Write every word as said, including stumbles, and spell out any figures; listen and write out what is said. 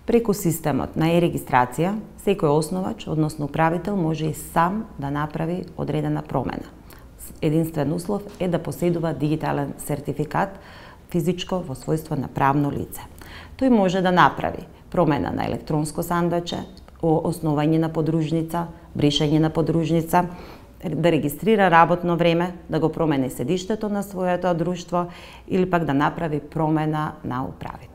Преку системот на е-регистрација, секој основач, односно управител, може и сам да направи одредена промена. Единствен услов е да поседува дигитален сертификат физичко во својство на правно лице. Тој може да направи промена на електронско сандоче, основање на подружница, бришање на подружница, да регистрира работно време, да го промени седиштето на своето друштво или пак да направи промена на управител.